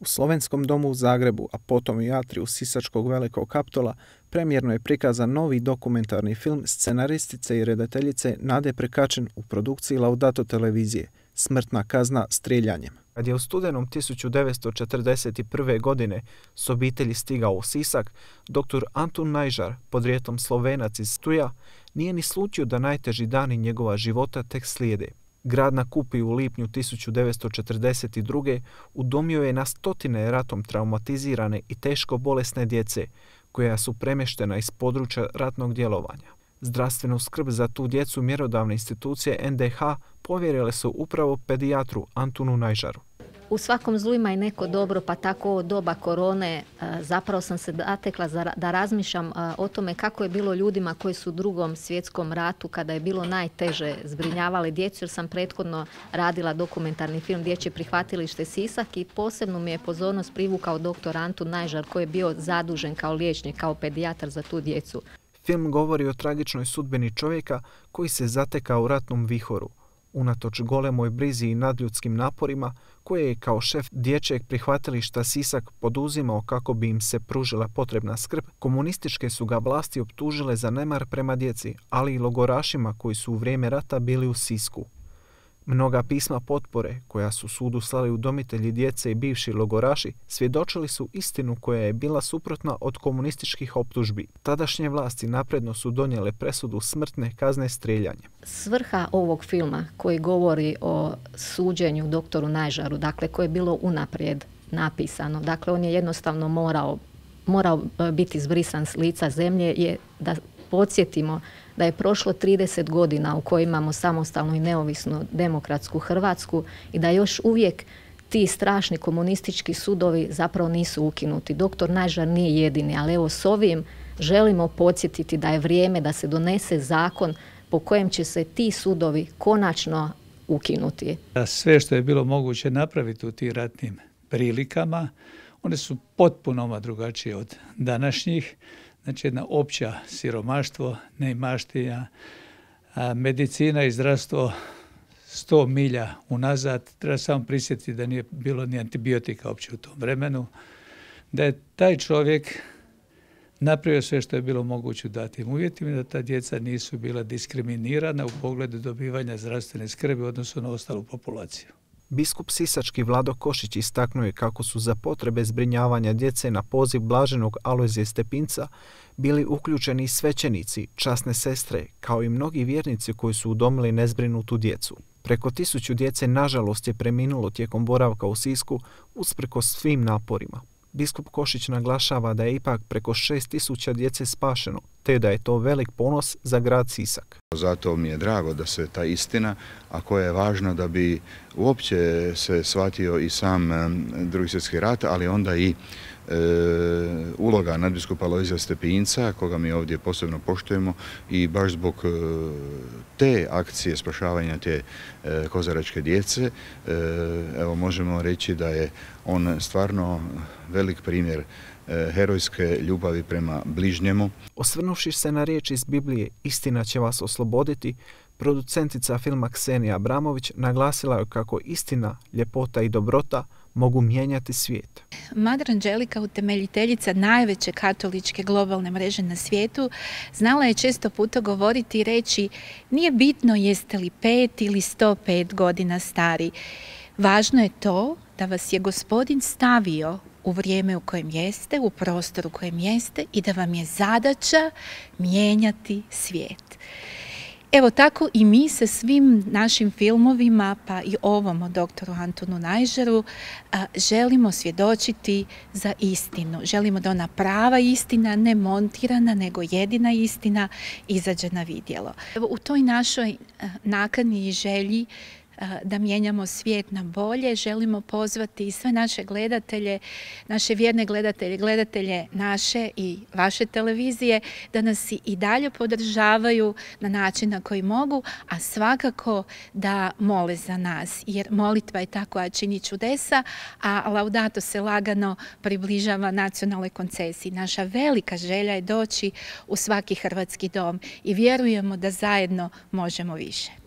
U Slovenskom domu u Zagrebu, a potom i atriju Sisačkog Velikog Kaptola, premijerno je prikazan novi dokumentarni film scenaristice i redateljice Nade Prekačin u produkciji Laudato televizije Smrtna kazna streljanjem. Kad je u studenom 1941. godine s obitelji stigao u Sisak, dr. Antun Najžar, podrijetlom Slovenac iz Stuja, nije ni slutio da najteži dani njegova života tek slijede. Grad na Kupi u lipnju 1942. udomio je na stotine ratom traumatizirane i teško bolesne djece, koja su premještena iz područja ratnog djelovanja. Zdravstvenu skrb za tu djecu mjerodavne institucije NDH povjerile su upravo pedijatru Antunu Najžaru. U svakom zlu ima i neko dobro, pa tako ovo doba korone zapravo sam se zatekla da razmišljam o tome kako je bilo ljudima koji su u Drugom svjetskom ratu, kada je bilo najteže, zbrinjavali djecu, jer sam prethodno radila dokumentarni film Dječje prihvatilište Sisak i posebno mi je pozornost privukao dr. Antun Najžar, koji je bio zadužen kao liječnik, kao pedijatar za tu djecu. Film govori o tragičnoj sudbini čovjeka koji se zatekao u ratnom vihoru. Unatoč golemoj brizi i nadljudskim naporima, koje je kao šef Dječjeg prihvatilišta Sisak poduzimao kako bi im se pružila potrebna skrb, komunističke su ga vlasti optužile za nemar prema djeci, ali i logorašima koji su u vrijeme rata bili u Sisku. Mnoga pisma potpore, koja su sudu slali udomitelji djece i bivši logoraši, svjedočili su istinu koja je bila suprotna od komunističkih optužbi. Tadašnje vlasti napredno su donijele presudu smrtne kazne streljanjem. Svrha ovog filma koji govori o suđenju doktoru Najžaru, dakle koje je bilo unaprijed napisano, dakle on je jednostavno morao biti zbrisan s lica zemlje, je da podsjetimo da je prošlo 30 godina u kojoj imamo samostalnu i neovisnu demokratsku Hrvatsku i da još uvijek ti strašni komunistički sudovi zapravo nisu ukinuti. Doktor Najžar nije jedini, ali evo s ovim želimo podsjetiti da je vrijeme da se donese zakon po kojem će se ti sudovi konačno ukinuti. Sve što je bilo moguće napraviti u tim ratnim prilikama, one su potpuno drugačije od današnjih. Znači jedna opća siromaštvo, neimaština, medicina i zdravstvo 100 milja unazad. Treba samo prisjetiti da nije bilo ni antibiotika uopće u tom vremenu. Da je taj čovjek napravio sve što je bilo moguće u datim uvjetima i da ta djeca nisu bila diskriminirana u pogledu dobivanja zdravstvene skrbi u odnosu na ostalu populaciju. Biskup sisački Vlado Košić istaknuo je kako su za potrebe zbrinjavanja djece na poziv blaženog Alojzija Stepinca bili uključeni svećenici, časne sestre, kao i mnogi vjernici koji su udomili nezbrinutu djecu. Preko 1000 djece nažalost je preminulo tijekom boravka u Sisku usprkos svim naporima. Biskup Košić naglašava da je ipak preko 6000 djece spašeno, te da je to velik ponos za grad Sisak. Zato mi je drago da se ta istina, a koja je važna da bi uopće se shvatio i sam Drugi svjetski rat, ali onda i uloga nadbiskupa Alojzija Stepinca, koga mi ovdje posebno poštujemo, i baš zbog te akcije spašavanja te kozaračke djece, evo možemo reći da je on stvarno velik primjer herojske ljubavi prema bližnjemu. Osvrnuvši se na riječ iz Biblije "Istina će vas osloboditi", producentica filma Ksenija Abramović naglasila je kako istina, ljepota i dobrota mogu mijenjati svijet. Mother Angelica, utemeljiteljica najveće katoličke globalne mreže na svijetu, znala je često puta govoriti i reći: nije bitno jeste li 5 ili 105 godina stari. Važno je to da vas je Gospodin stavio u vrijeme u kojem jeste, u prostoru u kojem jeste i da vam je zadaća mijenjati svijet. Evo tako i mi sa svim našim filmovima, pa i ovom o doktoru Antunu Najžaru, želimo svjedočiti za istinu. Želimo da ona prava istina, ne montirana, nego jedina istina, izađe na vidjelo. Evo, u toj našoj nakani i želji da mijenjamo svijet na bolje, želimo pozvati i sve naše gledatelje, naše vjerne gledatelje, gledatelje naše i vaše televizije, da nas i dalje podržavaju na način na koji mogu, a svakako da mole za nas, jer molitva je ta koja čini čudesa, a Laudato se lagano približava nacionalnoj koncesiji. Naša velika želja je doći u svaki hrvatski dom i vjerujemo da zajedno možemo više.